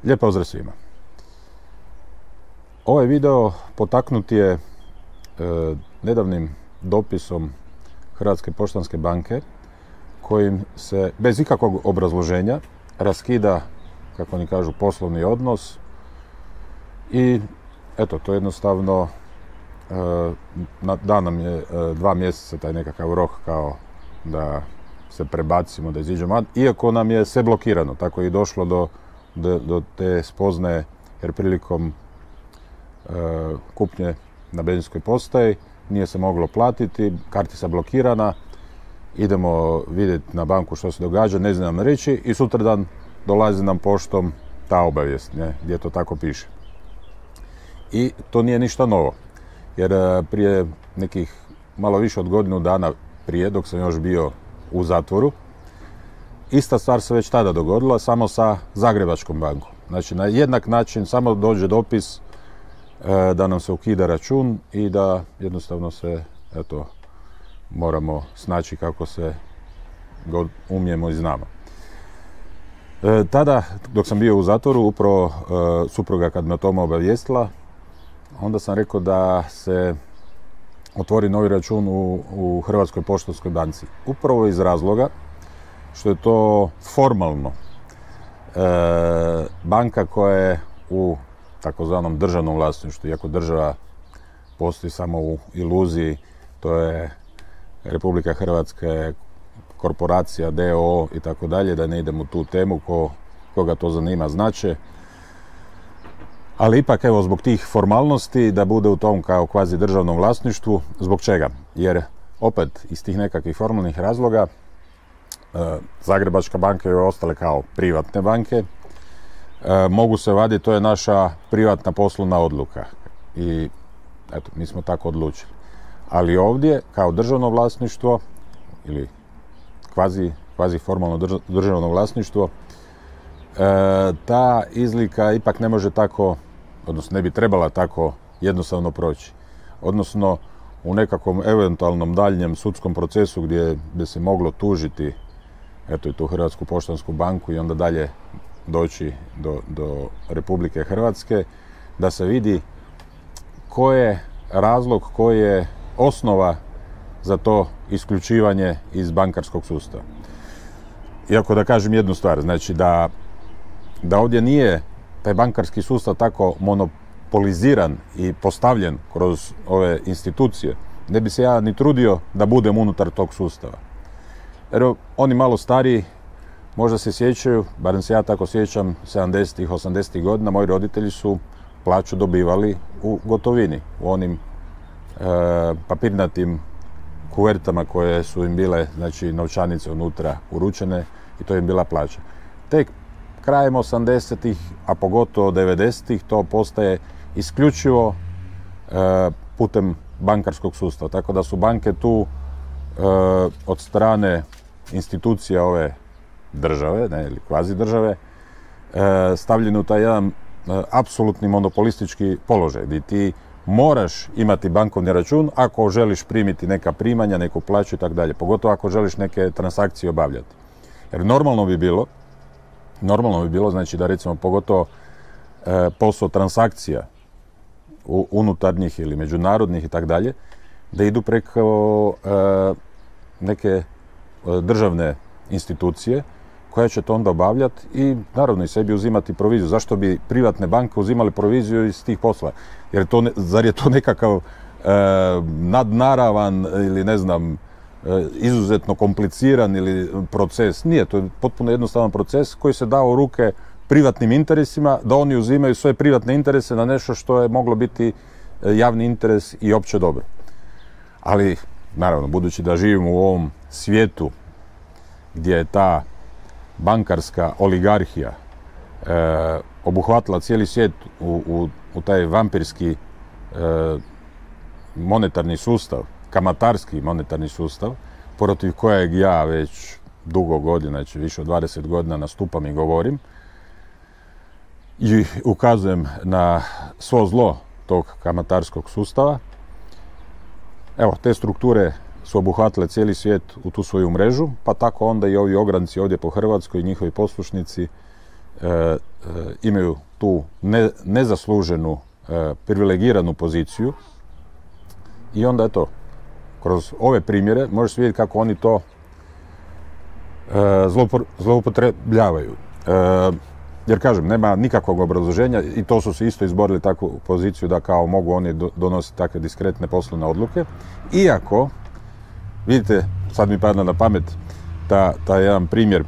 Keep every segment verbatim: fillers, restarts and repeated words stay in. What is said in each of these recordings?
Lijep pozdrav svima. Ovaj video potaknut je e, nedavnim dopisom Hrvatske poštanske banke kojim se bez ikakvog obrazloženja raskida, kako oni kažu, poslovni odnos i eto, to jednostavno e, da nam je e, dva mjeseca taj nekakav rok kao da se prebacimo, da iziđemo van, iako nam je sve blokirano, tako je i došlo do Do, do te spoznaje, jer prilikom e, kupnje na benzinskoj postaji nije se moglo platiti, kartica blokirana, idemo vidjeti na banku što se događa, ne znam reći i sutradan dolazi nam poštom ta obavijest, ne, gdje to tako piše. I to nije ništa novo, jer e, prije nekih malo više od godinu dana prije, dok sam još bio u zatvoru, ista stvar se već tada dogodila, samo sa Zagrebačkom bankom. Znači, na jednak način samo dođe dopis e, da nam se ukida račun i da jednostavno se, eto, moramo snaći kako se god umijemo i znamo. E, tada, dok sam bio u zatvoru, upravo e, supruga kad me o tome obavijestila, onda sam rekao da se otvori novi račun u, u Hrvatskoj poštanskoj banci. Upravo iz razloga što je to formalno e, banka koja je u takozvanom državnom vlasništvu, iako država postoji samo u iluziji, to je Republika Hrvatska, korporacija, d o o i tako dalje, da ne idemo u tu temu, ko, koga to zanima znače. Ali ipak, evo, zbog tih formalnosti, da bude u tom kao kvazi državnom vlasništvu. Zbog čega? Jer opet iz tih nekakvih formalnih razloga Zagrebačka banka i ostale kao privatne banke e, mogu se vaditi, to je naša privatna poslovna odluka i eto, mi smo tako odlučili. Ali ovdje, kao državno vlasništvo ili kvazi, kvazi formalno drž, državno vlasništvo, e, ta izlika ipak ne može tako, odnosno ne bi trebala tako jednostavno proći. Odnosno, u nekakvom eventualnom daljnjem sudskom procesu gdje bi se moglo tužiti eto i tu Hrvatsku poštansku banku i onda dalje doći do, do Republike Hrvatske, da se vidi koji je razlog, koji je osnova za to isključivanje iz bankarskog sustava. Iako da kažem jednu stvar, znači da, da ovdje nije taj bankarski sustav tako monopoliziran i postavljen kroz ove institucije, ne bi se ja ni trudio da budem unutar tog sustava. Jer oni malo stariji možda se sjećaju, barem se ja tako sjećam, sedamdesetih, osamdesetih godina, moji roditelji su plaću dobivali u gotovini, u onim e, papirnatim kuvertama koje su im bile, znači, novčanice unutra uručene i to im bila plaća. Tek krajem osamdesetih, a pogotovo devedesetih, to postaje isključivo e, putem bankarskog sustava, tako da su banke tu e, od strane institucija ove države, ne, ili kvazi države, e, stavljeni u taj jedan e, apsolutni monopolistički položaj, gdje ti moraš imati bankovni račun ako želiš primiti neka primanja, neku plaću i tako dalje, pogotovo ako želiš neke transakcije obavljati. Jer normalno bi bilo, normalno bi bilo, znači da recimo pogotovo e, posao transakcija u, unutarnjih ili međunarodnih i tako dalje, da idu preko e, neke državne institucije koja će to onda obavljati i naravno i sebi uzimati proviziju. Zašto bi privatne banke uzimali proviziju iz tih posla? Jer to ne, zar je to nekakav e, nadnaravan ili ne znam, e, izuzetno kompliciran ili proces? Nije, to je potpuno jednostavan proces koji se dao u ruke privatnim interesima, da oni uzimaju svoje privatne interese na nešto što je moglo biti javni interes i opće dobro. Ali, naravno, budući da živimo u ovom svijetu gdje je ta bankarska oligarhija e, obuhvatila cijeli svijet u, u, u taj vampirski e, monetarni sustav, kamatarski monetarni sustav, protiv kojeg ja već dugo godina, znači više od dvadeset godina nastupam i govorim i ukazujem na svo zlo tog kamatarskog sustava. Evo, te strukture su obuhvatile cijeli svijet u tu svoju mrežu, pa tako onda i ovi ogranci ovdje po Hrvatskoj i njihovi poslušnici e, e, imaju tu ne, nezasluženu, e, privilegiranu poziciju i onda je to. Kroz ove primjere možeš vidjeti kako oni to e, zloupor, zloupotrebljavaju. E, jer kažem, nema nikakvog obrazloženja i to su se isto izborili takvu poziciju da kao mogu oni do, donositi takve diskretne poslovne odluke. Iako, vidite, sad mi padne na pamet ta, ta jedan primjer,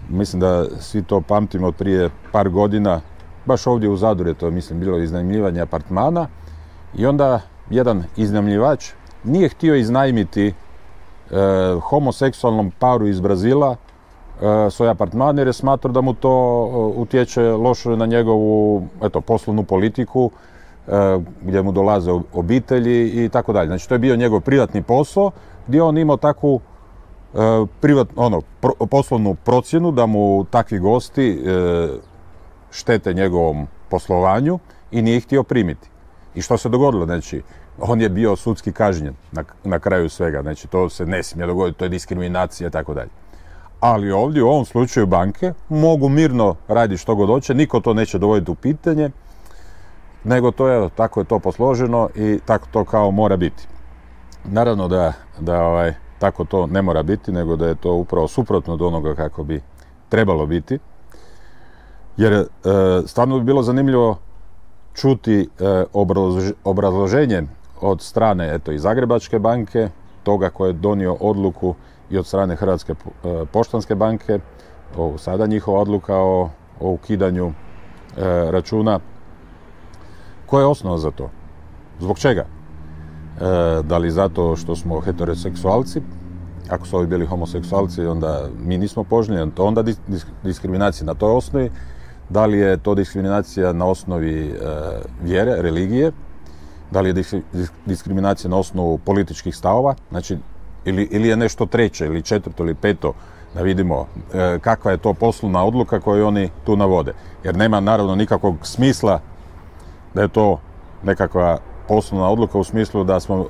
mislim da svi to pamtimo od prije par godina, baš ovdje u Zadru je to, mislim, bilo iznajmljivanje apartmana i onda jedan iznajmljivač nije htio iznajmiti e, homoseksualnom paru iz Brazila e, svoj apartman jer je smatrao da mu to e, utječe loše na njegovu eto, poslovnu politiku, e, gdje mu dolaze obitelji i tako dalje. Znači to je bio njegov privatni posao gdje on imao takvu e, privat, ono, pro, poslovnu procjenu da mu takvi gosti e, štete njegovom poslovanju i nije ih htio primiti. I što se dogodilo? Znači, on je bio sudski kažnjen na, na kraju svega. Znači, to se ne smije dogoditi, to je diskriminacija i tako dalje. Ali ovdje, u ovom slučaju banke, mogu mirno raditi što god hoće, niko to neće dovoditi u pitanje, nego to je, tako je to posloženo i tako to kao mora biti. Naravno da, da ovaj, tako to ne mora biti, nego da je to upravo suprotno od onoga kako bi trebalo biti. Jer e, stvarno bi bilo zanimljivo čuti e, obrazlož, obrazloženje od strane eto, i Zagrebačke banke, toga koji je donio odluku i od strane Hrvatske e, poštanske banke, o, sada njihova odluka o, o ukidanju e, računa. Koja je osnova za to? Zbog čega? E, da li zato što smo heteroseksualci? Ako su ovi bili homoseksualci, onda mi nismo poželjni, to onda diskriminacija na toj osnovi. Da li je to diskriminacija na osnovi e, vjere, religije, da li je diskriminacija na osnovu političkih stavova, znači, ili, ili je nešto treće, ili četvrto, ili peto, da vidimo e, kakva je to poslovna odluka koju oni tu navode. Jer nema naravno nikakvog smisla da je to nekakva poslovna odluka u smislu da smo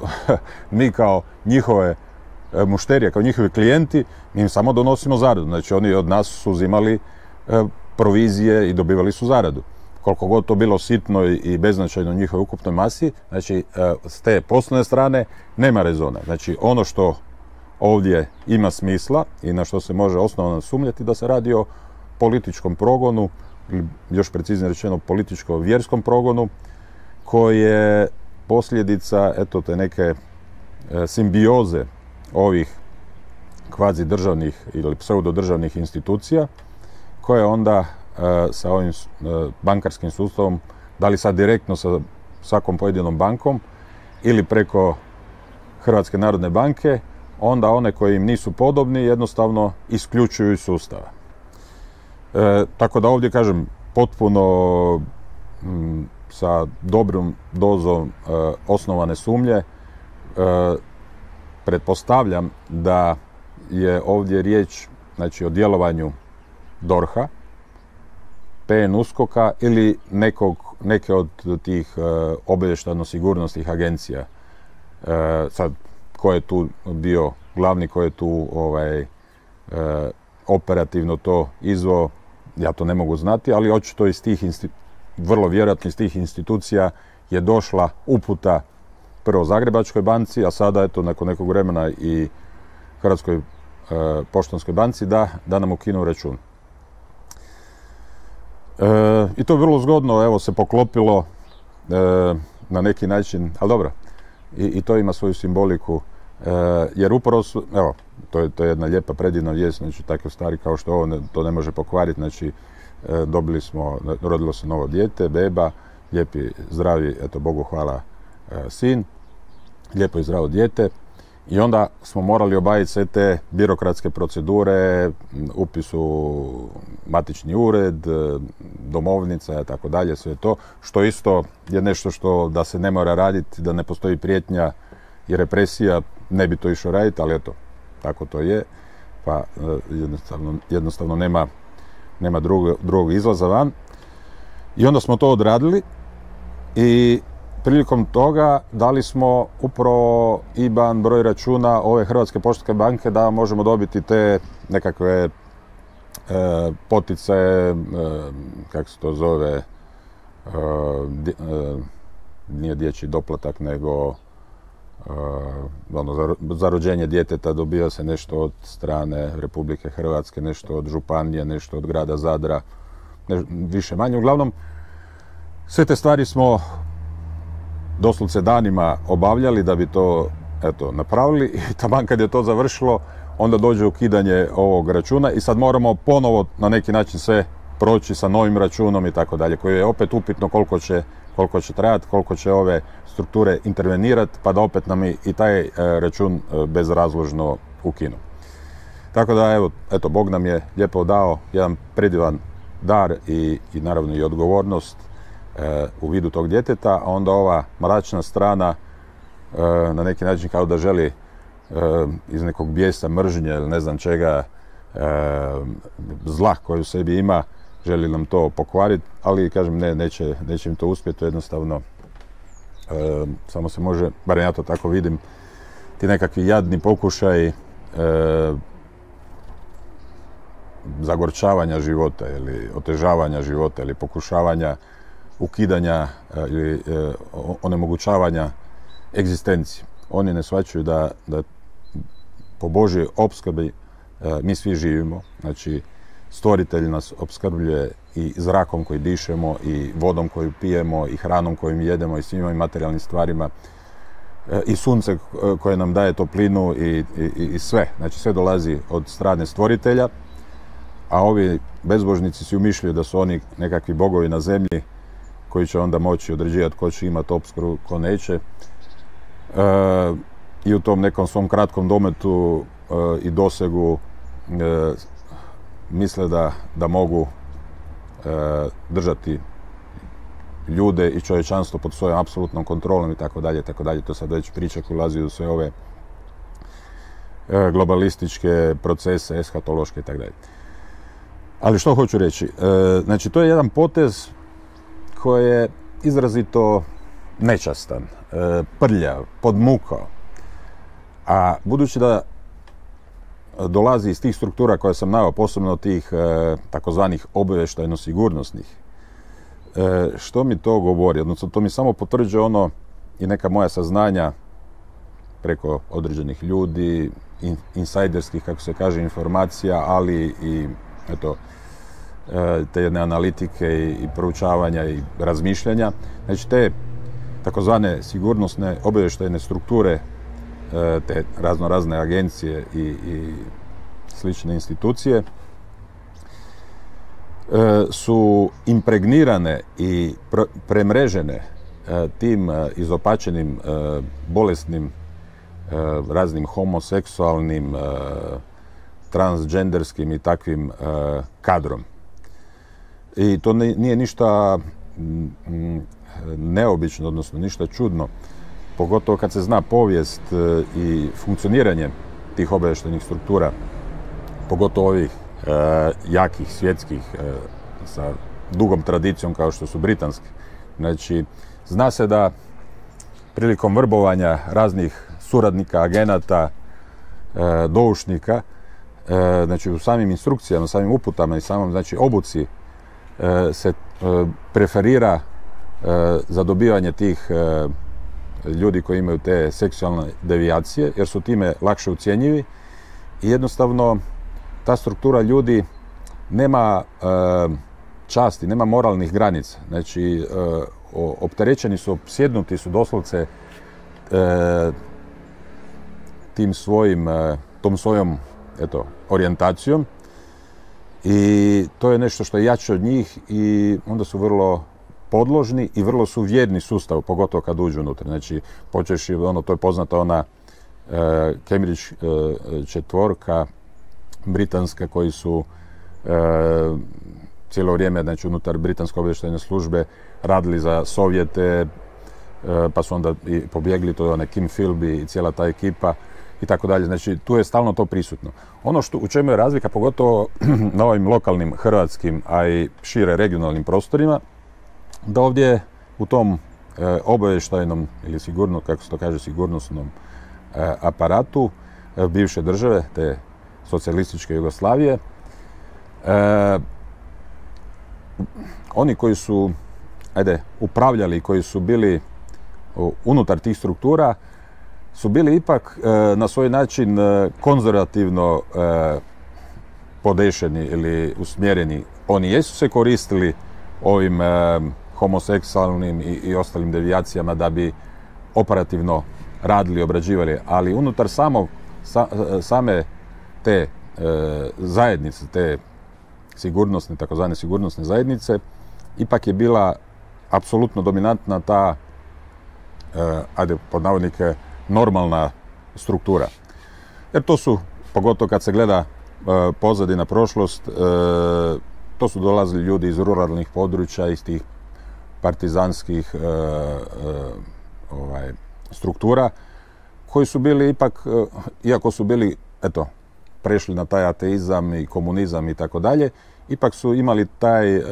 mi kao njihove e, mušterije, kao njihovi klijenti, mi im samo donosimo zaradu. Znači oni od nas su uzimali e, provizije i dobivali su zaradu. Koliko god to bilo sitno i beznačajno u njihovoj ukupnoj masi, znači s te poslovne strane nema rezona. Znači ono što ovdje ima smisla i na što se može osnovno sumnjati da se radi o političkom progonu, ili još preciznije rečeno političko-vjerskom progonu, koji je posljedica eto te neke simbioze ovih kvazi državnih ili pseudodržavnih institucija koje onda e, sa ovim e, bankarskim sustavom, da li sad direktno sa svakom pojedinom bankom ili preko Hrvatske narodne banke, onda one koji im nisu podobni jednostavno isključuju iz sustava. E, tako da ovdje kažem potpuno m, sa dobrom dozom e, osnovane sumnje e, pretpostavljam da je ovdje riječ znači, o djelovanju dorha, P N USKOK-a ili nekog, neke od tih e, obavještajno-sigurnosnih agencija. E, sad, ko je tu bio glavni, ko je tu ovaj, e, operativno to izveo, ja to ne mogu znati, ali očito iz tih, vrlo vjerojatno iz tih institucija je došla uputa prvo Zagrebačkoj banci, a sada eto nakon nekog vremena i Hrvatskoj e, poštanskoj banci da, da nam ukinu račun. E, I to je vrlo zgodno, evo, se poklopilo e, na neki način, ali dobro, i, i to ima svoju simboliku, e, jer upravo su, evo, to je, to je jedna lijepa predivna vijest, znači takve stvari kao što ovo ne, to ne može pokvariti, znači e, dobili smo, rodilo se novo dijete, beba, lijepi, zdravi, eto, Bogu hvala, e, sin, lijepo i zdravo dijete. I onda smo morali obaviti sve te birokratske procedure, upis u matični ured, domovnica i tako dalje, sve to, što isto je nešto što da se ne mora raditi, da ne postoji prijetnja i represija, ne bi to išao raditi, ali eto, tako to je, pa jednostavno, jednostavno nema, nema drugog, drugog izlaza van. I onda smo to odradili i prilikom toga dali smo upravo I B A N, broj računa ove Hrvatske poštanske banke da možemo dobiti te nekakve e, poticaje, e, kako se to zove, e, di, e, nije dječji doplatak, nego e, ono, za, za rođenje djeteta dobija se nešto od strane Republike Hrvatske, nešto od županije, nešto od grada Zadra, ne, više manje. Uglavnom, sve te stvari smo doslovce danima obavljali da bi to, eto, napravili i taman kad je to završilo, onda dođe ukidanje ovog računa i sad moramo ponovo na neki način sve proći sa novim računom i tako dalje, koji je opet upitno koliko će, koliko će trajati, koliko će ove strukture intervenirati, pa da opet nam i taj e, račun e, bezrazložno ukinu. Tako da, evo, eto, Bog nam je lijepo dao jedan predivan dar i, i naravno i odgovornost u vidu tog djeteta, a onda ova mračna strana na neki način kao da želi iz nekog bijesa, mržnje ili ne znam čega, zla koju u sebi ima, želi nam to pokvariti, ali kažem ne, neće, neće im to uspjeti, to jednostavno samo se može, barem ja to tako vidim, ti nekakvi jadni pokušaj zagorčavanja života ili otežavanja života ili pokušavanja ukidanja ili e, onemogućavanja egzistencije. Oni ne shvaćaju da, da po Božjoj opskrbi e, mi svi živimo. Znači, stvoritelj nas opskrbljuje i zrakom koji dišemo, i vodom koju pijemo, i hranom koju jedemo, i svim ovim materijalnim stvarima, e, i sunce koje nam daje toplinu i, i, i sve. Znači, sve dolazi od strane stvoritelja, a ovi bezbožnici si umišljaju da su oni nekakvi bogovi na zemlji koji će onda moći određivati ko će imati opskrbu, ko neće. E, I u tom nekom svom kratkom dometu e, i dosegu e, misle da, da mogu e, držati ljude i čovječanstvo pod svojom apsolutnom kontrolom i tako dalje, tako dalje. To sad već priča koja ulazi u sve ove e, globalističke procese, eshatološke i tako dalje. Ali što hoću reći? E, znači, to je jedan potez koji je izrazito nečastan, e, prljav, podmukao. A budući da dolazi iz tih struktura koje sam naveo, posebno tih e, takozvanih obavještajno-sigurnosnih, e, što mi to govori? Odnosno, to mi samo potvrđuje ono i neka moja saznanja preko određenih ljudi, in, insajderskih, kako se kaže, informacija, ali i eto, te jedne analitike i, i proučavanja i razmišljanja. Znači, te takozvane sigurnosne obavještajne strukture, te razno razne agencije i, i slične institucije su impregnirane i pr- premrežene tim izopačenim, bolesnim, raznim homoseksualnim, transgenderskim i takvim kadrom. I to nije ništa neobično, odnosno ništa čudno, pogotovo kad se zna povijest i funkcioniranje tih obavještajnih struktura, pogotovo ovih e, jakih, svjetskih, e, sa dugom tradicijom kao što su britanski. Znači, zna se da prilikom vrbovanja raznih suradnika, agenata, e, doušnika, e, znači u samim instrukcijama, samim uputama i samom, znači, obuci e, se e, preferira e, za dobivanje tih e, ljudi koji imaju te seksualne devijacije, jer su time lakše ucjenjivi i jednostavno ta struktura ljudi nema e, časti, nema moralnih granica. Znači, opterećeni su, opsjednuti su doslovce tim svojim, tom svojom eto, orijentacijom i to je nešto što je jače od njih i onda su vrlo podložni i vrlo su vjerni sustavu, pogotovo kad uđu unutra. Znači, počeši, ono, to je poznata ona uh, Cambridge uh, četvorka britanska koji su uh, cijelo vrijeme, znači, unutar britanske obavještajne službe radili za Sovjete, uh, pa su onda i pobjegli, to je onaj Kim Philby i cijela ta ekipa i tako dalje. Znači, tu je stalno to prisutno. Ono što, u čemu je razlika, pogotovo na ovim lokalnim hrvatskim, a i šire regionalnim prostorima, da ovdje u tom e, obavještajnom ili sigurno, kako se to kaže, sigurnosnom e, aparatu e, bivše države, te socijalističke Jugoslavije, e, oni koji su, ajde, upravljali, koji su bili u, unutar tih struktura, su bili ipak e, na svoj način e, konzervativno e, podešeni ili usmjereni. Oni jesu se koristili ovim e, homoseksualnim i, i ostalim devijacijama da bi operativno radili, obrađivali, ali unutar samog, sa, same te e, zajednice, te sigurnosne, takozvane sigurnosne zajednice, ipak je bila apsolutno dominantna ta, e, ajde, pod navodnike, normalna struktura. Jer to su, pogotovo kad se gleda e, pozadina prošlost, e, to su dolazili ljudi iz ruralnih područja, iz tih partizanskih e, e, ovaj, struktura, koji su bili ipak, e, iako su bili, eto, prešli na taj ateizam i komunizam i tako dalje, ipak su imali taj, e,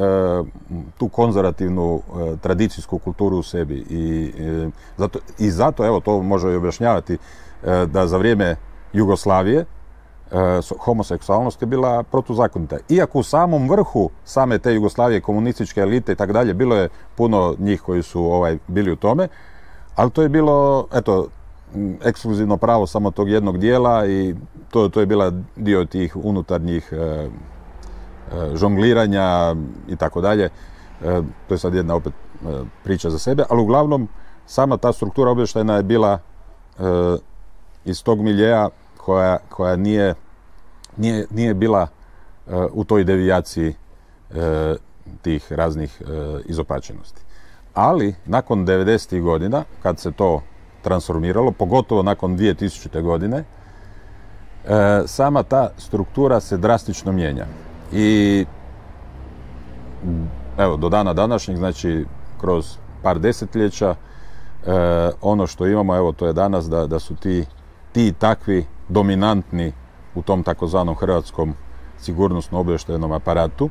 tu konzervativnu e, tradicijsku kulturu u sebi. I, e, zato, I zato, evo, to može i objašnjavati, e, da za vrijeme Jugoslavije e, homoseksualnost je bila protuzakonita. Iako u samom vrhu same te Jugoslavije, komunističke elite i tako dalje, bilo je puno njih koji su ovaj, bili u tome, ali to je bilo, eto, ekskluzivno pravo samo tog jednog dijela i to, to je bila dio tih unutarnjih e, žongliranja i tako dalje. To je sad jedna opet priča za sebe, ali uglavnom sama ta struktura obavještajna je bila e, iz tog miljeja koja, koja nije, nije, nije bila e, u toj devijaciji e, tih raznih e, izopačenosti. Ali nakon devedesetih godina, kad se to transformiralo, pogotovo nakon dvije tisućite. godine, e, sama ta struktura se drastično mijenja. I evo, do dana današnjeg, znači kroz par desetljeća, e, ono što imamo, evo, to je danas da, da su ti, ti takvi dominantni u tom takozvanom hrvatskom sigurnosno-obavještajnom aparatu,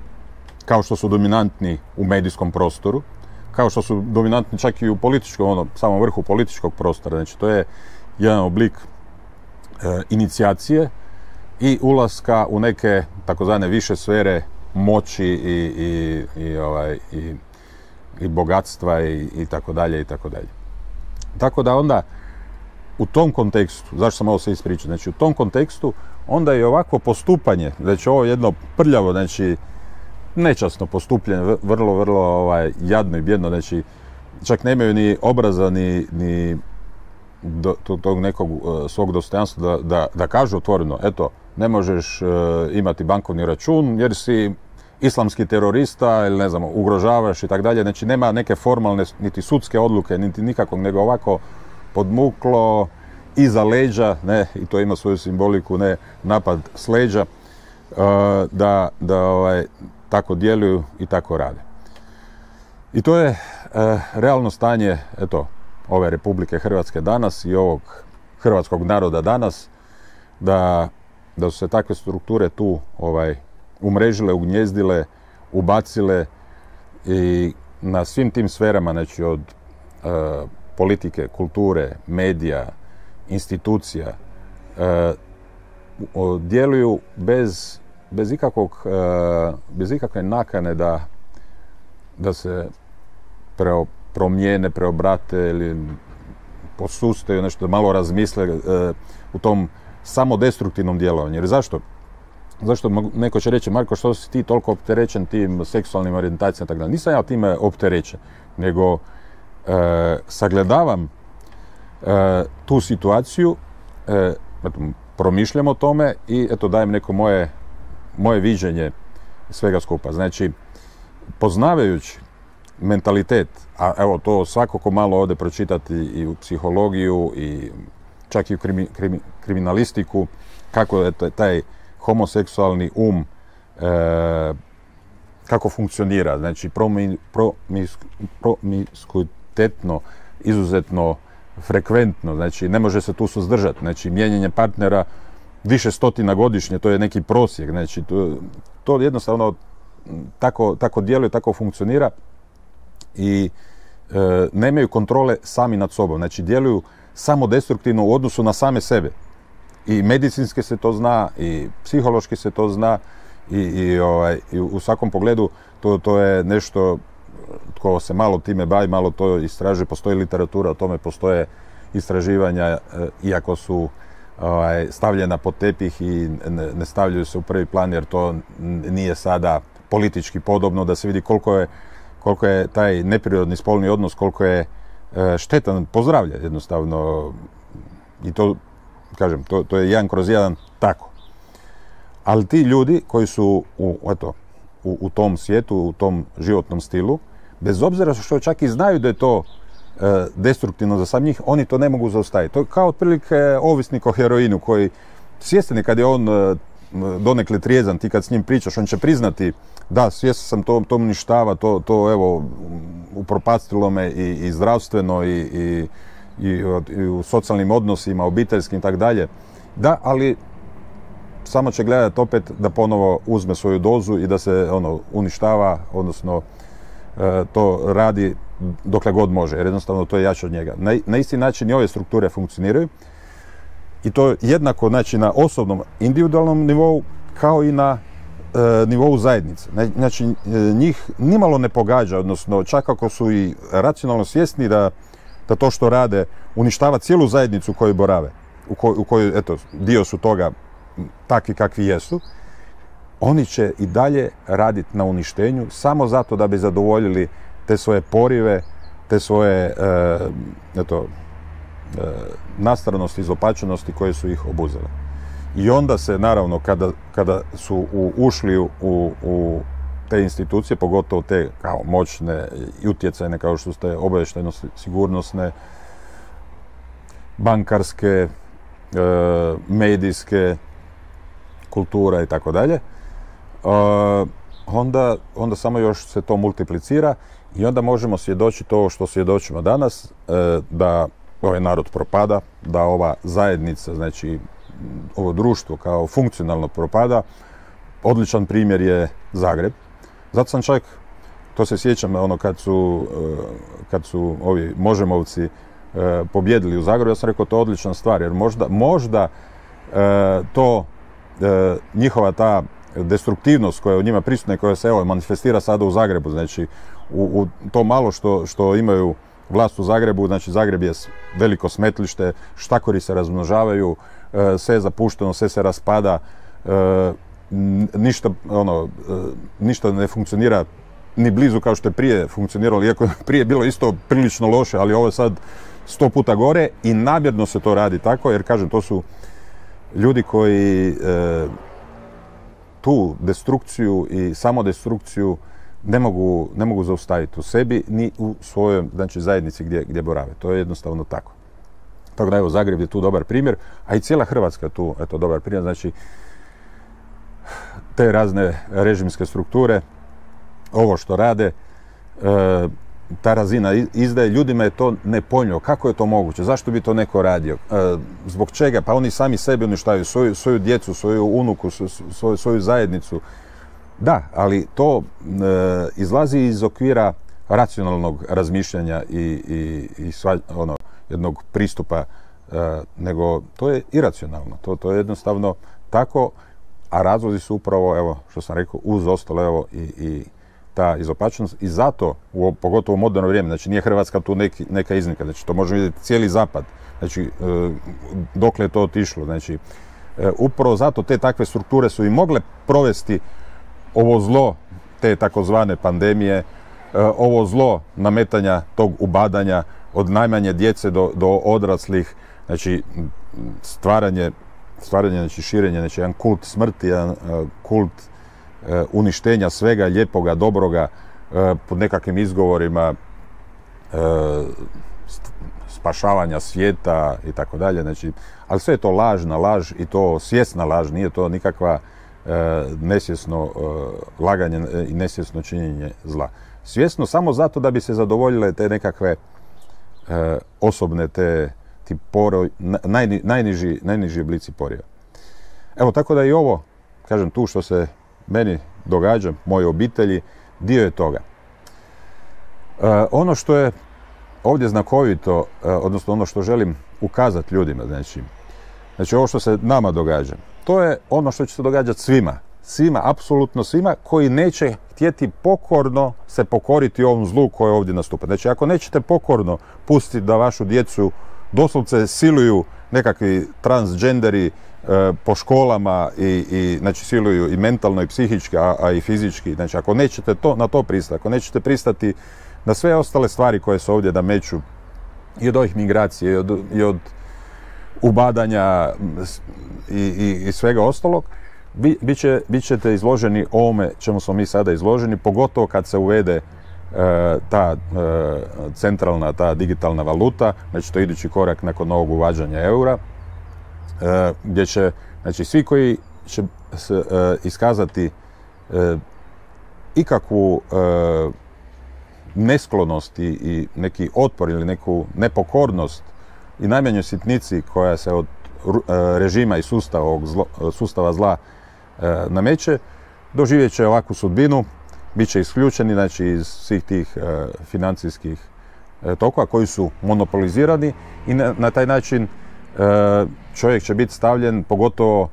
kao što su dominantni u medijskom prostoru, kao što su dominantni čak i u političkom, ono, samom vrhu političkog prostora. Znači, to je jedan oblik e, inicijacije i ulaska u neke takozvane više sfere moći i, i, i, ovaj, i, i bogatstva i, i tako dalje i tako dalje. Tako da onda u tom kontekstu, zašto sam ovo se ispričao, znači u tom kontekstu onda je ovako postupanje, znači ovo jedno prljavo, znači nečasno postupanje, vrlo, vrlo ovaj, jadno i bjedno, znači čak nemaju ni obraza, ni, ni do, tog nekog uh, svog dostojanstva da, da, da kažu otvoreno, eto, ne možeš uh, imati bankovni račun jer si islamski terorista ili ne znam, ugrožavaš i tako dalje. Znači nema neke formalne, niti sudske odluke, niti nikakvog, nego ovako podmuklo iza leđa, ne, i to ima svoju simboliku, ne, napad s leđa, uh, da, da ovaj, tako djeluju i tako rade. I to je uh, realno stanje, eto, ove Republike Hrvatske danas i ovog hrvatskog naroda danas, da, da su se takve strukture tu ovaj, umrežile, ugnjezdile, ubacile i na svim tim sferama, znači od uh, politike, kulture, medija, institucija, uh, djeluju bez, bez, ikakvog, uh, bez ikakve nakane da, da se preo, promijene, preobrate ili posustaju nešto, da malo razmisle uh, u tom samodestruktivnom djelovanju. Jer zašto? zašto neko će reći, Marko, što si ti toliko opterećen tim seksualnim orijentacijama, tako da nisam ja time opterećen, nego e, sagledavam e, tu situaciju, e, eto, promišljam o tome i eto dajem neko moje, moje viđenje svega skupa. Znači, poznavajući mentalitet, a evo to svako ko malo ode pročitati i u psihologiju i čak i u krimi, krimi, kriminalistiku, kako je taj homoseksualni um, e, kako funkcionira. Znači, promi, promis, promiskuitetno, izuzetno frekventno, znači ne može se tu suzdržati. Znači, mijenjanje partnera više stotina godišnje, to je neki prosjek. Znači, to, to jednostavno tako, tako djeluje, tako funkcionira i e, nemaju kontrole sami nad sobom. Znači, djeluju samo destruktivno u odnosu na same sebe. I medicinski se to zna, i psihološki se to zna, i, i, ovaj, i u svakom pogledu to, to je nešto tko se malo time bavi, malo to istražuje, postoji literatura o tome, postoje istraživanja, iako su ovaj, stavljena pod tepih i ne, ne stavljaju se u prvi plan, jer to nije sada politički podobno, da se vidi koliko je, koliko je taj neprirodni spolni odnos, koliko je e, štetan po zdravlje jednostavno. I to, kažem, to, to je jedan kroz jedan tako. Ali ti ljudi koji su u, eto, u, u tom svijetu, u tom životnom stilu, bez obzira što čak i znaju da je to e, destruktivno za sam njih, oni to ne mogu zaustaviti. To je kao otprilike ovisnik o heroinu koji svjestan kad je on e, donekle trijezan, ti kad s njim pričaš, on će priznati da, svjestan sam, to, to uništava, to, to evo, upropastilo me i, i zdravstveno i, i, i, i u socijalnim odnosima, obiteljskim i tako dalje. Da, ali samo će gledati opet da ponovo uzme svoju dozu i da se ono uništava, odnosno e, to radi dokle god može, jer jednostavno to je jače od njega. Na, na isti način i ove strukture funkcioniraju i to jednako, znači, na osobnom, individualnom nivou kao i na e, nivou zajednice. Znači, njih nimalo ne pogađa, odnosno čak ako su i racionalno svjesni da, da to što rade uništava cijelu zajednicu u kojoj borave, u, koj, u kojoj, eto, dio su toga takvi kakvi jesu, oni će i dalje raditi na uništenju samo zato da bi zadovoljili te svoje porive, te svoje e, eto, e, nastranosti, izopačenosti koje su ih obuzele. I onda se, naravno, kada, kada su u, ušli u, u te institucije, pogotovo te kao moćne i utjecajne, kao što ste obavještajno sigurnosne, bankarske, e, medijske, kultura i tako dalje, onda, onda samo još se to multiplicira i onda možemo svjedočiti ovo što svjedočimo danas, da ovaj narod propada, da ova zajednica, znači ovo društvo kao funkcionalno propada. Odličan primjer je Zagreb. Zato sam čak, to se sjećam, ono kad su, kad su ovi Možemovci pobjedili u Zagrebu, ja sam rekao to je odlična stvar, jer možda, možda to E, njihova ta destruktivnost koja je u njima prisutna i koja se evo manifestira sada u Zagrebu, znači u, u to malo što, što imaju vlast u Zagrebu, znači Zagreb je veliko smetlište, štakori se razmnožavaju, e, sve je zapušteno, sve se raspada, e, ništa, ono, e, ništa ne funkcionira ni blizu kao što je prije funkcioniralo, iako je prije bilo isto prilično loše, ali ovo je sad sto puta gore i namjerno se to radi tako, jer kažem, to su ljudi koji e, tu destrukciju i samodestrukciju ne mogu, ne mogu zaustaviti u sebi ni u svojoj, znači, zajednici gdje, gdje borave. To je jednostavno tako. Tako da evo, Zagreb je tu dobar primjer, a i cijela Hrvatska je tu eto, dobar primjer. Znači, te razne režimske strukture, ovo što rade, e, ta razina izdaje, ljudima je to nepojmljivo. Kako je to moguće? Zašto bi to neko radio? E, zbog čega? Pa oni sami sebi uništavaju, svoju, svoju djecu, svoju unuku, svoju, svoju zajednicu. Da, ali to e, izlazi iz okvira racionalnog razmišljanja i, i, i sva, ono, jednog pristupa, e, nego to je iracionalno. To, to je jednostavno tako, a razlozi su upravo, evo, što sam rekao, uz ostalo, evo, i, i ta izopačenost i zato, u, pogotovo u moderno vrijeme, znači nije Hrvatska tu neki, neka iznimka, znači to možemo vidjeti cijeli zapad, znači e, dokle je to otišlo, znači upravo zato te takve strukture su i mogle provesti ovo zlo, te takozvane pandemije, ovo zlo nametanja tog ubadanja od najmanje djece do, do odraslih, znači stvaranje, stvaranje, znači širenje, znači jedan kult smrti, jedan kult uništenja svega lijepoga, dobroga, pod nekakvim izgovorima spašavanja svijeta i tako dalje, znači, ali sve je to lažna laž i to svjesna laž, nije to nikakva nesvjesno laganje i nesvjesno činjenje zla. Svjesno samo zato da bi se zadovoljile te nekakve osobne, te ti poroj, najni, najniži, najniži oblici poriva. Evo, tako da i ovo, kažem, tu što se meni događa, moje obitelji, dio je toga. E, ono što je ovdje znakovito, e, odnosno ono što želim ukazati ljudima, znači, znači ovo što se nama događa, to je ono što će se događati svima, svima, apsolutno svima, koji neće htjeti pokorno se pokoriti ovom zlu koje ovdje nastupa. Znači, ako nećete pokorno pustiti da vašu djecu doslovce siluju nekakvi transgenderi e, po školama i, i znači siluju i mentalno i psihički, a, a i fizički. Znači, ako nećete to, na to pristati, ako nećete pristati na sve ostale stvari koje se ovdje nameću i od ovih migracije i od, i od ubadanja i, i, i svega ostalog, bi, bit, će, bit ćete izloženi ovome čemu smo mi sada izloženi, pogotovo kad se uvede ta e, centralna, ta digitalna valuta, znači to je idući korak nakon novog uvađanja eura, e, gdje će, znači svi koji će se, e, iskazati e, ikakvu e, nesklonost i, i neki otpor ili neku nepokornost i najmanjoj sitnici koja se od e, režima i sustava, ovog zlo, sustava zla e, nameće, doživjet će ovakvu sudbinu. Biće isključeni, znači, iz svih tih e, financijskih e, tokova koji su monopolizirani i na, na taj način e, čovjek će biti stavljen, pogotovo,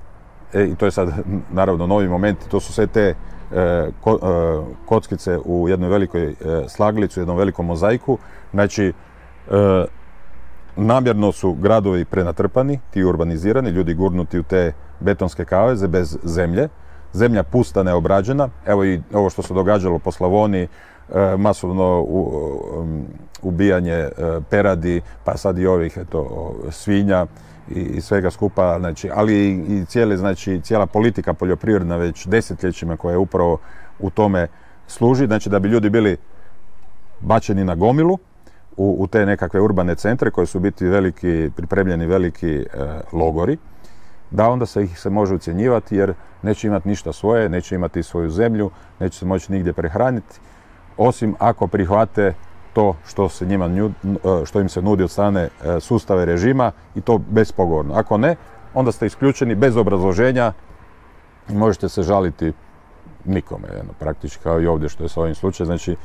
e, i to je sad naravno novi moment, to su sve te e, ko, e, kockice u jednoj velikoj e, slaglici, u jednom velikom mozaiku. Znači, e, namjerno su gradovi prenatrpani, ti urbanizirani, ljudi gurnuti u te betonske kaveze bez zemlje. Zemlja pusta, neobrađena. Evo i ovo što se događalo po Slavoniji, e, masovno u, um, ubijanje e, peradi, pa sad i ovih eto, svinja i, i svega skupa, znači, ali i, i cijele, znači, cijela politika poljoprivredna već desetljećima koja je upravo u tome služi, znači da bi ljudi bili bačeni na gomilu u, u te nekakve urbane centre koji su biti veliki, pripremljeni veliki e, logori, da onda se ih se može ucjenjivati jer neće imati ništa svoje, neće imati svoju zemlju, neće se moći nigdje prehraniti, osim ako prihvate to što, se njima, što im se nudi od strane sustave režima i to bespogovorno. Ako ne, onda ste isključeni bez obrazloženja i možete se žaliti nikome, jedno, praktički kao i ovdje što je s ovim slučajem. Znači, e,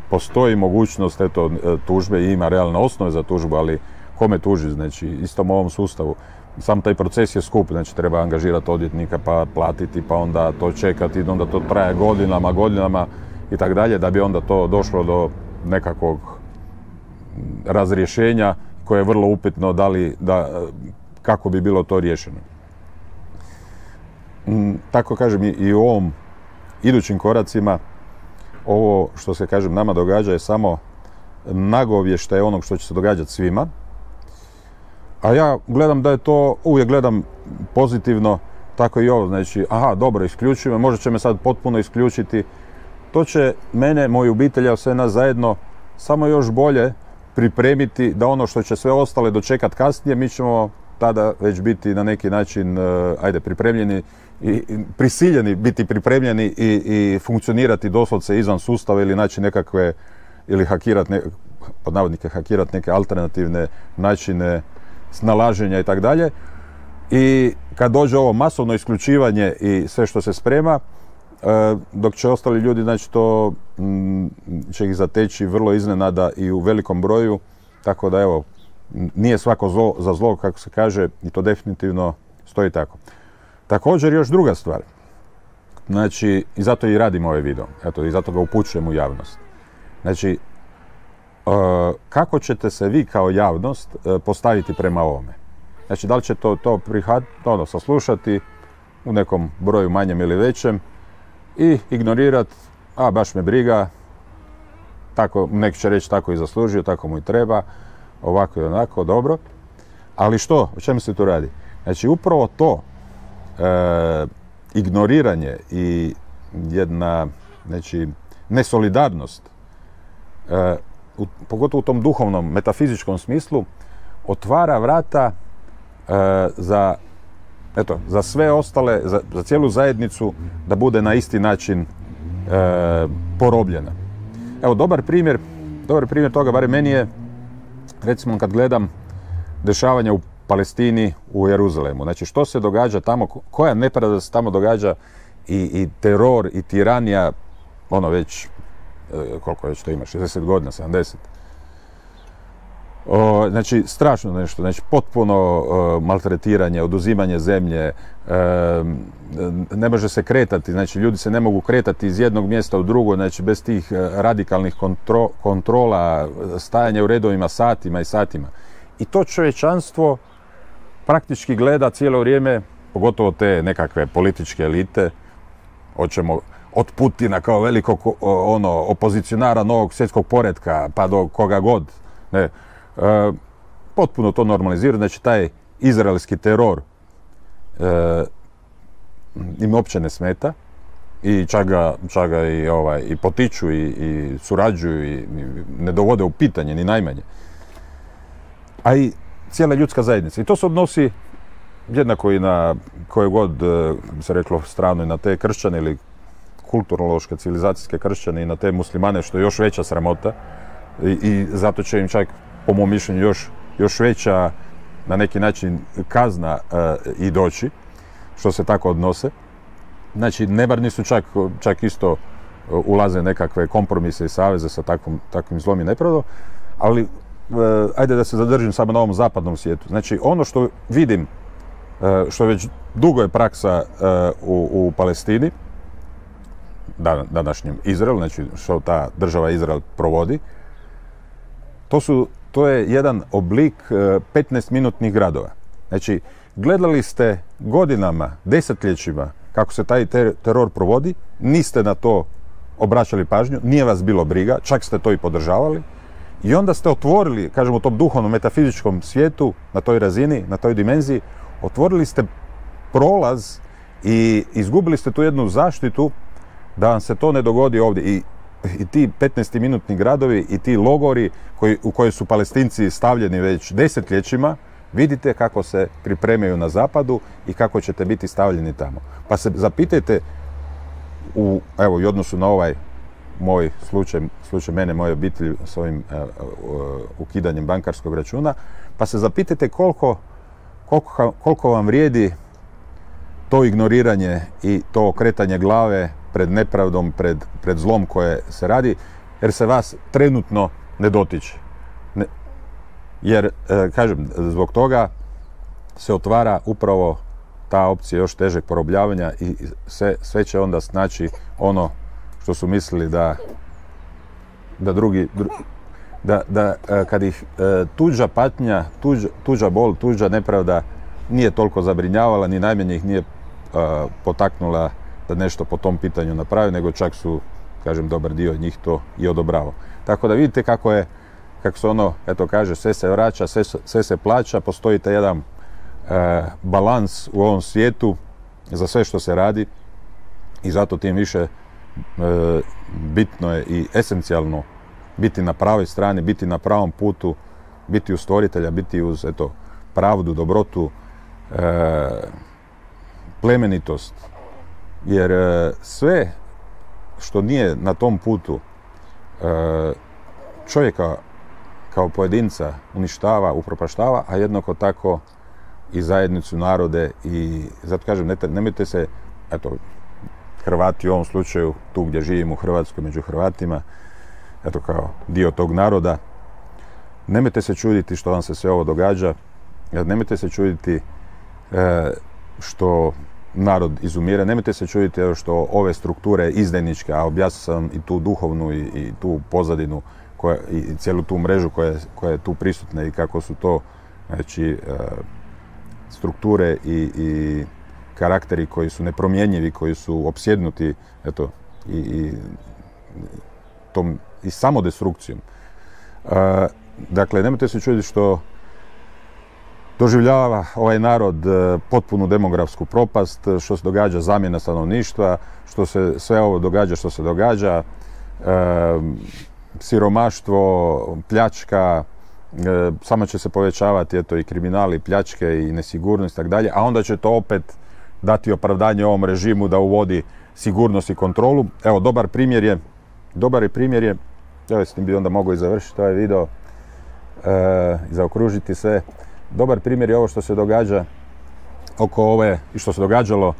postoji mogućnost eto, tužbe i ima realne osnove za tužbu, ali kome tuži, znači istom ovom sustavu. Sam taj proces je skup, znači treba angažirati odvjetnika pa platiti, pa onda to čekati, onda to traje godinama, godinama i tako dalje, da bi onda to došlo do nekakvog razrješenja koje je vrlo upitno da li, da, kako bi bilo to riješeno. Tako kažem i u ovom idućim koracima, ovo što se kažem nama događa je samo nagovještaj onog što će se događati svima. A ja gledam da je to, uvijek gledam pozitivno, tako i ovo, znači, aha, dobro, isključujem, možda će me sad potpuno isključiti. To će mene, moju obitelj, a sve nas zajedno, samo još bolje pripremiti da ono što će sve ostale dočekat kasnije, mi ćemo tada već biti na neki način, ajde, pripremljeni i, i prisiljeni biti pripremljeni i, i funkcionirati doslovce izvan sustava ili naći nekakve, ili hakirati, ne, pod navodnike hakirati neke alternativne načine snalaženja i tako dalje. I kad dođe ovo masovno isključivanje i sve što se sprema, dok će ostali ljudi, znači to m, će ih zateći vrlo iznenada i u velikom broju, tako da evo, nije svako zlo za zlo, kako se kaže, i to definitivno stoji tako. Također još druga stvar, znači i zato i radim ovaj video, eto, i zato ga upućujem u javnost. Znači, kako ćete se vi kao javnost postaviti prema ovome? Znači, da li će to, to prihvatiti, ono, saslušati u nekom broju manjem ili većem i ignorirati, a baš me briga, tako, neki će reći tako i zaslužio, tako mu i treba, ovako i onako, dobro. Ali što, o čemu se tu radi? Znači, upravo to e, ignoriranje i jedna, znači, nesolidarnost, e, u, pogotovo u tom duhovnom, metafizičkom smislu, otvara vrata e, za, eto, za sve ostale, za, za cijelu zajednicu da bude na isti način e, porobljena. Evo, dobar primjer, dobar primjer toga, barem meni je, recimo kad gledam dešavanja u Palestini, u Jeruzalemu. Znači, što se događa tamo, koja nepravda se tamo događa i, i teror i tiranija, ono već, koliko već to ima, šezdeset godina, sedamdeset. O, znači, strašno nešto, znači, potpuno o, maltretiranje, oduzimanje zemlje, e, ne može se kretati, znači, ljudi se ne mogu kretati iz jednog mjesta u drugo, znači, bez tih radikalnih kontro, kontrola, stajanja u redovima satima i satima. I to čovječanstvo praktički gleda cijelo vrijeme, pogotovo te nekakve političke elite, hoćemo od Putina kao velikog ono, opozicionara novog svjetskog poretka, pa do koga god, ne, e, potpuno to normalizira, znači taj izraelski teror e, im uopće ne smeta i čak ga, čak ga i, ovaj, i potiču i, i surađuju i, i ne dovode u pitanje ni najmanje. A i cijela ljudska zajednica. I to se odnosi jednako i na koje god, kako bi se reklo, stranu i na te kršćane ili kulturološke, civilizacijske kršćane i na te muslimane, što je još veća sramota. I, i zato će im čak, po mom mišljenju, još, još veća na neki način kazna uh, i doći, što se tako odnose. Znači, nebarni su čak, čak isto uh, ulaze nekakve kompromise i saveze sa takvom, takvim zlom i nepravdom, ali Uh, ajde da se zadržim samo na ovom zapadnom svijetu. Znači, ono što vidim, uh, što već dugo je praksa uh, u, u Palestini, dan, današnjem Izraelu, znači što ta država Izrael provodi, to, su, to je jedan oblik uh, petnaestminutnih gradova. Znači, gledali ste godinama, desetljećima kako se taj ter teror provodi, niste na to obraćali pažnju, nije vas bilo briga, čak ste to i podržavali. I onda ste otvorili, kažemo, u tom duhovnom, metafizičkom svijetu, na toj razini, na toj dimenziji, otvorili ste prolaz i izgubili ste tu jednu zaštitu da vam se to ne dogodi ovdje. I, i ti petnaestminutni gradovi i ti logori koji, u koje su Palestinci stavljeni već desetljećima, vidite kako se pripremaju na zapadu i kako ćete biti stavljeni tamo. Pa se zapitajte, u, evo, i odnosu na ovaj moj slučaj, slučaj mene, moje obitelji s ovim uh, uh, ukidanjem bankarskog računa, pa se zapitajte koliko, koliko, koliko vam vrijedi to ignoriranje i to okretanje glave pred nepravdom, pred, pred zlom koje se radi, jer se vas trenutno ne dotiče. Ne, jer, uh, kažem, zbog toga se otvara upravo ta opcija još težeg porobljavanja i sve, sve će onda snaći ono što su mislili da, da drugi, dru, da, da kad ih tuđa patnja, tuđa, tuđa bol, tuđa nepravda nije toliko zabrinjavala, ni najmanje ih nije a, potaknula da nešto po tom pitanju napravi, nego čak su, kažem, dobar dio njih to i odobravao. Tako da vidite kako je, kako se ono, eto kaže, sve se vraća, sve, sve se plaća, postoji taj jedan a, balans u ovom svijetu za sve što se radi i zato tim više E, bitno je i esencijalno biti na pravoj strani, biti na pravom putu, biti uz stvoritelja, biti uz eto, pravdu, dobrotu, e, plemenitost. Jer e, sve što nije na tom putu e, čovjeka kao pojedinca uništava, upropaštava, a jednako tako i zajednicu, narode. I zato kažem, ne, nemojte se, eto, Hrvati u ovom slučaju, tu gdje živimo u Hrvatskoj, među Hrvatima, eto kao dio tog naroda, nemojte se čuditi što vam se sve ovo događa, nemojte se čuditi e, što narod izumire, nemojte se čuditi što ove strukture izdajničke, a objasnio sam i tu duhovnu i, i tu pozadinu koja, i cijelu tu mrežu koja, koja je tu prisutna i kako su to, znači, e, strukture i, i karakteri koji su nepromjenjivi, koji su opsjednuti eto, i, i, tom, i samodestrukcijom. E, dakle, nemojte se čuditi što doživljava ovaj narod potpunu demografsku propast, što se događa zamjena stanovništva, što se sve ovo događa što se događa, e, siromaštvo, pljačka, e, samo će se povećavati eto, i kriminali, pljačke i nesigurnost i tako dalje, a onda će to opet dati opravdanje ovom režimu da uvodi sigurnost i kontrolu. Evo, dobar primjer je, dobar je primjer je, evo s tim bi onda mogao i završiti ovaj video, e, i zaokružiti sve. Dobar primjer je ovo što se događa oko ove, i što se događalo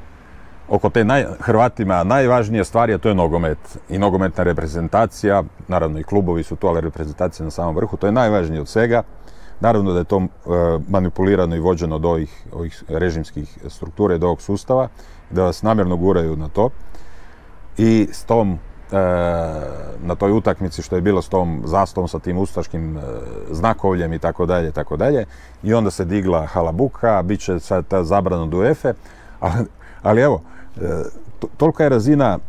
oko te naj, Hrvatima najvažnije stvari, a to je nogomet i nogometna reprezentacija, naravno i klubovi su tu, ali reprezentacija na samom vrhu, to je najvažnije od svega. Naravno da je to e, manipulirano i vođeno od ovih, ovih režimskih struktura i do ovog sustava, da vas namjerno guraju na to. I s tom, e, na toj utakmici što je bilo s tom zastavom, sa tim ustaškim e, znakovljem i tako dalje, tako dalje. I onda se digla halabuka, bit će sad ta zabrana od UEFA, ali, ali evo, e, to, tolika je razina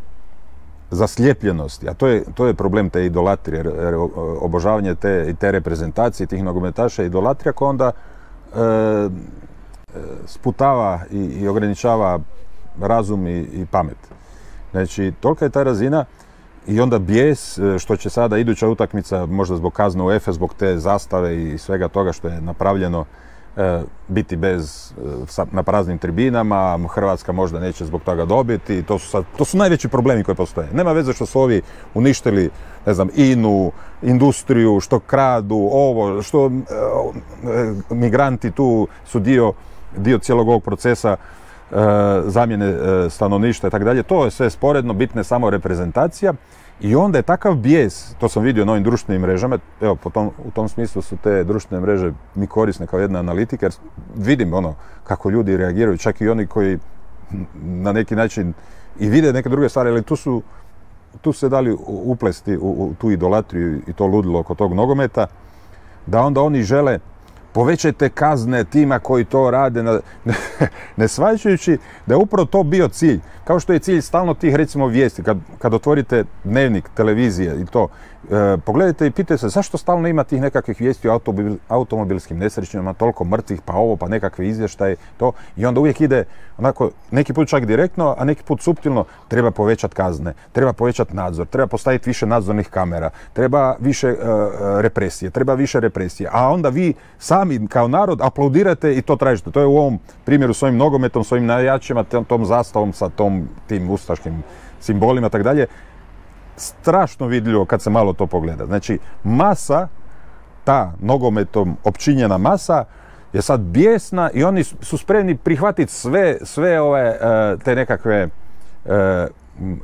zaslijepljenosti, a to je, to je problem te idolatrije, obožavanje te, te reprezentacije, tih nogometaša, idolatrija koja onda e, sputava i, i ograničava razum i, i pamet. Znači, tolika je ta razina i onda bijes što će sada iduća utakmica, možda zbog kazne UEFA, zbog te zastave i svega toga što je napravljeno, e, biti bez, e, na praznim tribinama, Hrvatska možda neće zbog toga dobiti, to su, sad, to su najveći problemi koji postoje. Nema veze što su ovi uništili, ne znam, inu, industriju, što kradu, ovo, što e, migranti tu su dio, dio cijelog ovog procesa e, zamjene e, stanovništva i tako dalje. To je sve sporedno, bitna je samo reprezentacija. I onda je takav bijes, to sam vidio na ovim društvenim mrežama, evo, po tom, u tom smislu su te društvene mreže mi korisne kao jedna analitika, jer vidim ono kako ljudi reagiraju, čak i oni koji na neki način i vide neke druge stvari, ali tu su, tu su se dali uplesti u, u tu idolatriju i to ludilo oko tog nogometa, da onda oni žele povećajte kazne tima koji to rade, na, ne shvaćajući da je upravo to bio cilj. Kao što je cilj stalno tih, recimo, vijesti. Kad, kad otvorite dnevnik, televizije i to, e, pogledajte i pitajte se zašto stalno ima tih nekakvih vijesti o automobil, automobilskim nesrećima, toliko mrtvih, pa ovo, pa nekakve izvještaje, to. I onda uvijek ide, onako, neki put čak direktno, a neki put suptilno, treba povećati kazne, treba povećati nadzor, treba postaviti više nadzornih kamera, treba više e, represije, treba više represije. A onda vi sami kao narod aplaudirate i to tražite. To je u ovom primjeru s ovim nogometom, s ovim navijačima, tom, tom zastavom sa tom, tim ustaškim simbolima i tako dalje. Strašno vidljivo kad se malo to pogleda. Znači, masa, ta nogometom opčinjena masa je sad bijesna i oni su spremni prihvatiti sve, sve ove te nekakve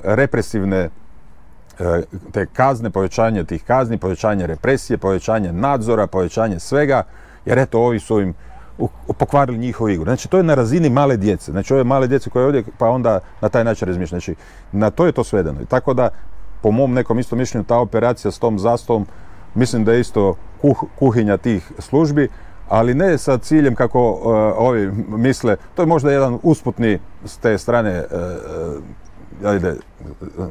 represivne te kazne, povećanje tih kazni, povećanje represije, povećanje nadzora, povećanje svega, jer eto, ovi su im pokvarili njihovu igru. Znači, to je na razini male djece. Znači, ove male djece koje ovdje, pa onda na taj način razmišljaju. Znači, na to je to svedeno. I tako da, po mom nekom isto mišljenju, ta operacija s tom zastavom, mislim da je isto kuh, kuhinja tih službi, ali ne sa ciljem kako uh, ovi misle. To je možda jedan usputni s te strane, uh, ajde,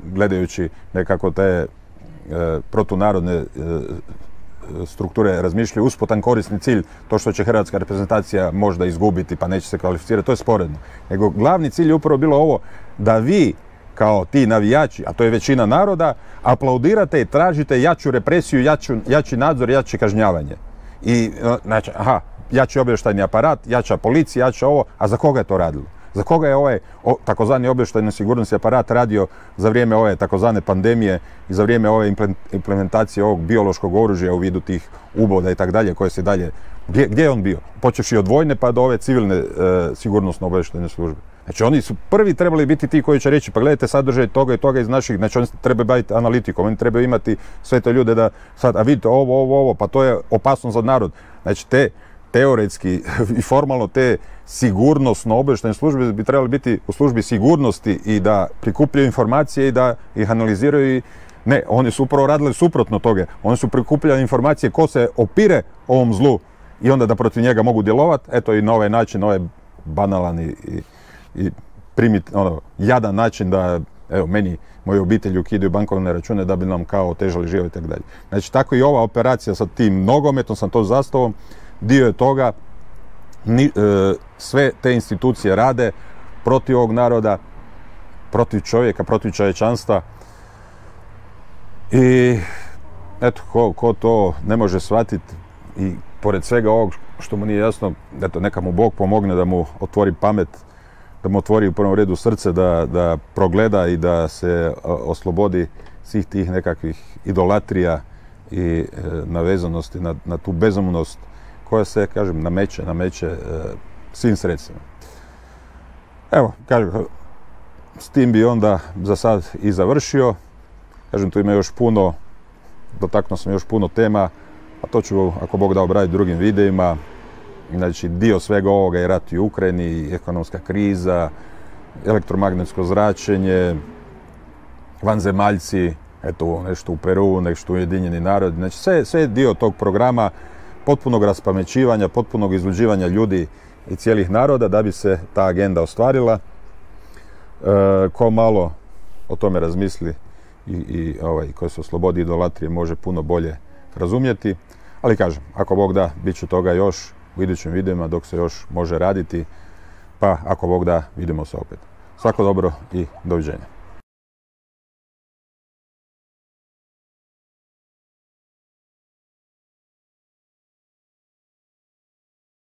gledajući nekako te uh, protunarodne uh, strukture razmišljaju, usputan korisni cilj, to što će hrvatska reprezentacija možda izgubiti pa neće se kvalificirati, to je sporedno. Nego glavni cilj je upravo bilo ovo, da vi kao ti navijači, a to je većina naroda, aplaudirate i tražite jaču represiju, jaču, jači nadzor, jače kažnjavanje. I, znači, aha, jači obavještajni aparat, jača policija, jača ovo, a za koga je to radilo? Za koga je ovaj o, takozvani obavještajni sigurnosni aparat radio za vrijeme ove takozvane pandemije i za vrijeme ove implementacije ovog biološkog oružja u vidu tih uboda i tak dalje, koje se dalje, gdje, gdje je on bio? Počevši od vojne pa do ove civilne e, sigurnosno obavještajne službe. Znači, oni su prvi trebali biti ti koji će reći, pa gledajte sadržaj toga i toga iz naših, znači oni trebaju baviti analitikom, oni trebaju imati sve te ljude da sad, a vidite ovo, ovo, ovo, pa to je opasno za narod. Znači, te teoretski i formalno te sigurnosno obavještajne službe bi trebali biti u službi sigurnosti i da prikupljaju informacije i da ih analiziraju. I ne, oni su upravo radili suprotno toga. Oni su prikupljali informacije ko se opire ovom zlu i onda da protiv njega mogu djelovati, eto i na ovaj način, ovaj banalan i, i, i primit, ono, jadan način da, evo, meni, moje obitelji ukidaju bankovne račune da bi nam kao otežali život i tako dalje. Znači, tako i ova operacija sa tim nogometom, sa tom zastavom, dio je toga, ni, e, sve te institucije rade protiv ovog naroda, protiv čovjeka, protiv čovječanstva. I eto, ko, ko to ne može shvatiti i pored svega ovog što mu nije jasno, eto, neka mu Bog pomogne da mu otvori pamet, da mu otvori u prvom redu srce, da, da progleda i da se oslobodi svih tih nekakvih idolatrija i e, navezanosti na, na tu bezumnost koja se, kažem, nameće, nameće e, svim sredstvima. Evo, kažem, s tim bi onda za sad i završio. Kažem, tu ima još puno, dotaknuo sam još puno tema, a to ću, ako Bog da, obraditi drugim videima. Znači, dio svega ovoga je rat u Ukrajini, ekonomska kriza, elektromagnetsko zračenje, vanzemaljci, eto, nešto u Peru, nešto u Ujedinjeni narodi. Znači, sve, sve je dio tog programa potpunog raspamećivanja, potpunog izluđivanja ljudi i cijelih naroda da bi se ta agenda ostvarila. E, ko malo o tome razmisli i, i ovaj, ko se oslobodi idolatrije može puno bolje razumjeti. Ali kažem, ako Bog da, bit će toga još u idućim videima dok se još može raditi, pa ako Bog da, vidimo se opet. Svako dobro i doviđenja.